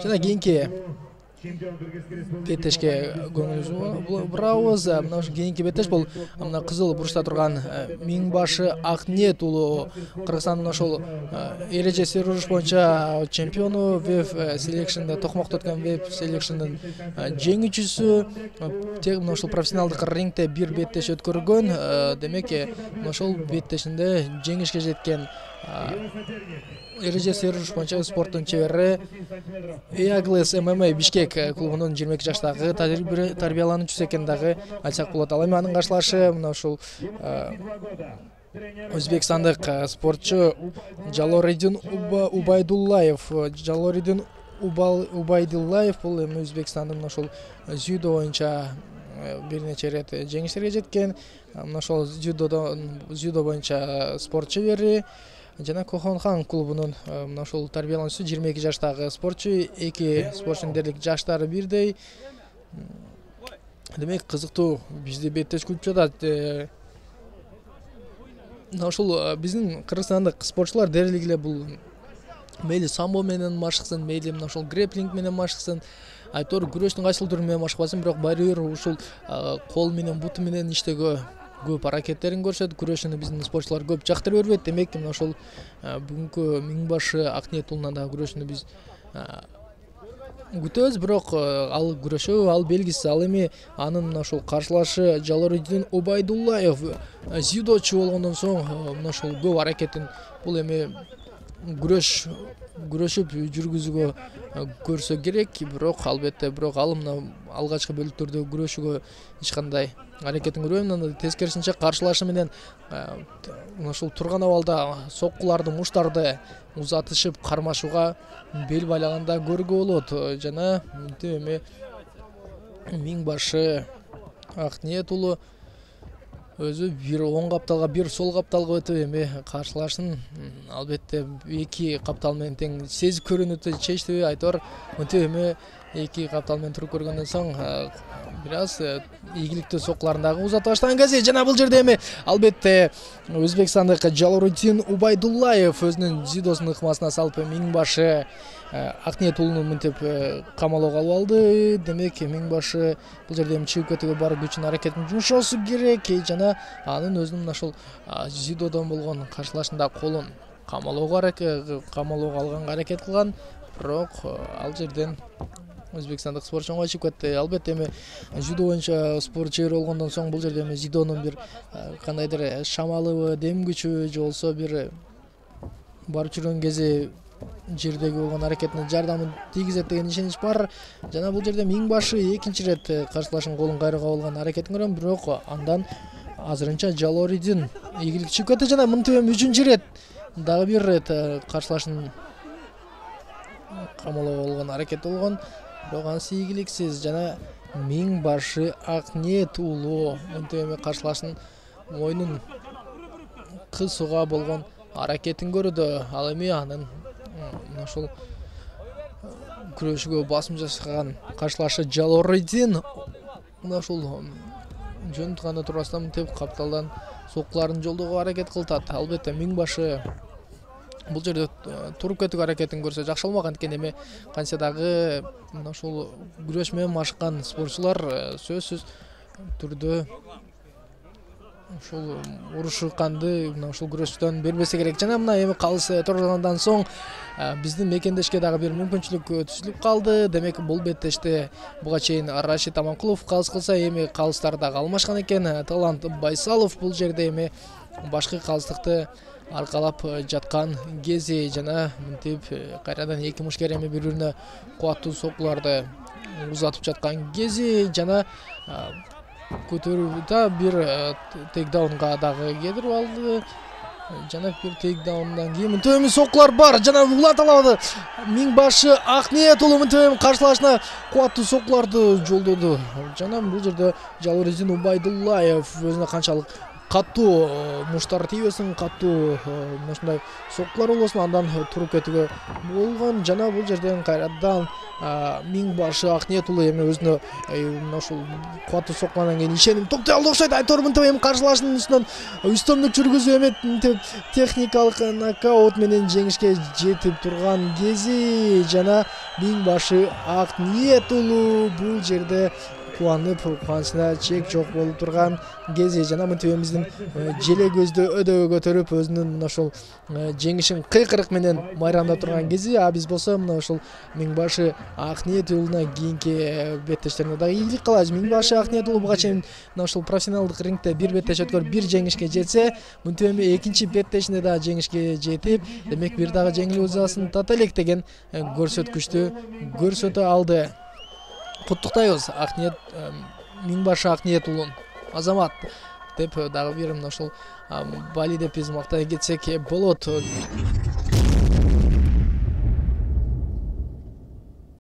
Жана кийинки беттешке көңүлүбүздү бурабыз. Мына ушу кийинки беттеш бул мына кызыл бурчта турган Миңбашы Акниет уулу Кыргызстандын ошол эреже серуруш боюнча чемпиону, веб селекшнда токмокто өткөн веб селекшндын жеңүүчүсү. Тек мына ошол профессионалдык рингде бир беттеш өткөргөн. Демек мына ошол беттешинде жеңишке жеткен эреже серуруш боюнча спорттун чебери Eagles MMA Бишкек клубунун 22 жаштагы тарбиялануучусу экени дагы айтсак болот. Ал эми анын каршылашы мына ушул өзбекстандык спортчу Жалориддин Убайдуллаев. Жалориддин Убайдуллаев бул эми Өзбекстандын мына ошол дзюдо боюнча бир нече ирет жеңиштерге жеткен. Мына ошол дзюдо боюнча спорт чебери жана Кохонхан клубунун мына ошол тарбиялануучусу 22 жаштагы спортчу. Эки спортчунун дерлик жаштары бирдей. Демек кызыктуу бизди беттеш күтүп жатат. Мына ошол биздин кыргызстандык спортчулар дерлик эле бул мейли самбо менен машыксын, мейли мына ошол грэплинг менен машыксын, айтор күрөштүн кайсыл түрү менен машыкпасын, бирок баары бир ушул кол менен буту менен иштөөгө көп аракеттерин көрсөтүп, күрөшүүнү биздин спортчулар көп жактырып бербейт. Демек мына ошол бүгүнкү Миңбашы Акниет уулунан дагы күрөшүүнү биз күтөбүз. Бирок ал күрөшүү, ал белгисиз. Ал эми анын мына ошол каршылашы Жалориддин Убайдуллаев дзюдочу болгондон соң мына ошол көп аракетин бул эми күрөшүп жүргүзүүгө көрсө керек. Бирок албетте ал мына алгачкы бөлүктөрдө күрөшүүгө эч кандай аракетин көрбөйм. Анан тескерисинче каршылашы менен мына ушул турган абалда соккуларды, муштарды узатышып кармашууга бел байлаганда көргө болот. Жана мынтип эми Миңбашы Акниет уулу өзү бир оң капталга, бир сол капталга өтүп эми каршылашын албетте эки каптал менен тең сезип көрүүнү чечти. Айтор мынтип эми эки каптал менен туруп көргөндөн соң бир аз ийгиликтүү соккуларын дагы узата баштаган кезде. Жана бул жерде эми албетте Өзбекстандык Жалориддин Убайдуллаев өзүнүн дзюдосунун ыкмасына салып Миңбашы Акниет уулуну мынтип камалоого алып алды. Демек Миңбашы бул жерде эми чыгып кетүүгө бар күчүн аракетин жумшоосу керек. Жана анын өзүнүн мына ошол дзюдодон болгон каршылашында колун камалоого алганга аракет кылган. Бирок ал жерден өзбекстандык спортчу оңой чыгып кетти. Албетте эми дзюдо боюнча спорт чебери болгондон соң бул жерде эми дзюдонун бир кандайдыр шамалыбы, дем күчү же болбосо бир барып жүргөн кези жердеги болгон аракетине жардамын тийгизет деген ишенич бар. Жана бул жерде Миңбашы экинчи ирет каршылашын колун кайрууга болгон аракетин көрөм. Бирок андан азырынча Жалориддин ийгилик чыгып кетти. Жана мынтип эми үчүнчү ирет дагы бир ирет каршылашын камалоого болгон аракет болгон. Бирок анысы ийгиликсиз. Жана Миңбашы Акниет уулу мынтип эми каршылашын мойнун кысууга болгон аракетин көрдү. Ал эми анын мына ошол күрөшүүгө басым жасаган каршылашы Жалориддин мына ошол жөн гана турбастан мынтип капталдан соккуларын жолдоого аракет кылтат. Албетте Миңбашы бул жерде туруп кетүүгө аракетин көрсө жакшы болмок. Анткени эми кантсе дагы мына ушул күрөш менен машыккан спортчулар сөзсүз түрдө ушул урушуканды мына ушул күрөштөн бербесе керек. Жана мына эми калыс тургандан соң биздин мекендешке дагы бир мүмкүнчүлүк түзүлүп калды. Демек бул беттеште буга чейин Рашид Аманкулов калыс кылса, эми калыстар дагы алмашкан экен. Талант Байсалов бул жерде эми башкы калыстыкты аркалап жаткан кези. Жана мынтип кайрадан эки мушкер эми бири-бирине кубаттуу соккуларды узатып жаткан кези. Жана көтөрүүдө бир тейкдаунга дагы кетирип алды. Жана бир тейкдаундан кийин мынтип эми соккулар бар. Жана улата алабады. Миңбашы Акниет уулу мынтип эми каршылашына кубаттуу соккуларды жолдоду. Жана бул жерде Жалориддин Убайдуллаев өзүнө канчалык катуу муштар тийбесин, катуу мына ушундай соккулар болбосун, андан туруп кетүүгө болгон. Жана бул жерден кайрадан Миңбашы Акниет уулу эми өзүнө мына ушул кубаттуу соккулардан кийин ишеним топтой алды окшойт. Айтор мынтип эми каршылашынын үстүнөн үстөмдүк жүргүзүп эми мынтип техникалык нокаут менен жеңишке жетип турган кези. Жана Миңбашы Акниет уулу бул жерде кубанып, кубанычына чек жок болуп турган кези. Жана мынтип биздин желе көздү өдөбө көтөрүп өзүнүн мына ушул жеңишин кыйкырык менен майрамдап турган кези. А биз болсо мына ушул Миңбашы Акниет уулуна кийинки беттештерине дагы ийгилик каалайбыз. Миңбашы Акниет уулу буга чейин мына ушул профессионалдык рингде бир беттеш өткөрүп, бир жеңишке жетсе, мынтип эми экинчи беттешинде дагы жеңишке жетип, демек бир дагы жеңилүү ызасын тата элек деген көрсөткүчтү көрсөтө алды. Куттуктайбыз Акниет, Миңбашы Акниет уулун. Азамат деп дагы бир мына ушул Бали деп биз мактай кетсек болот.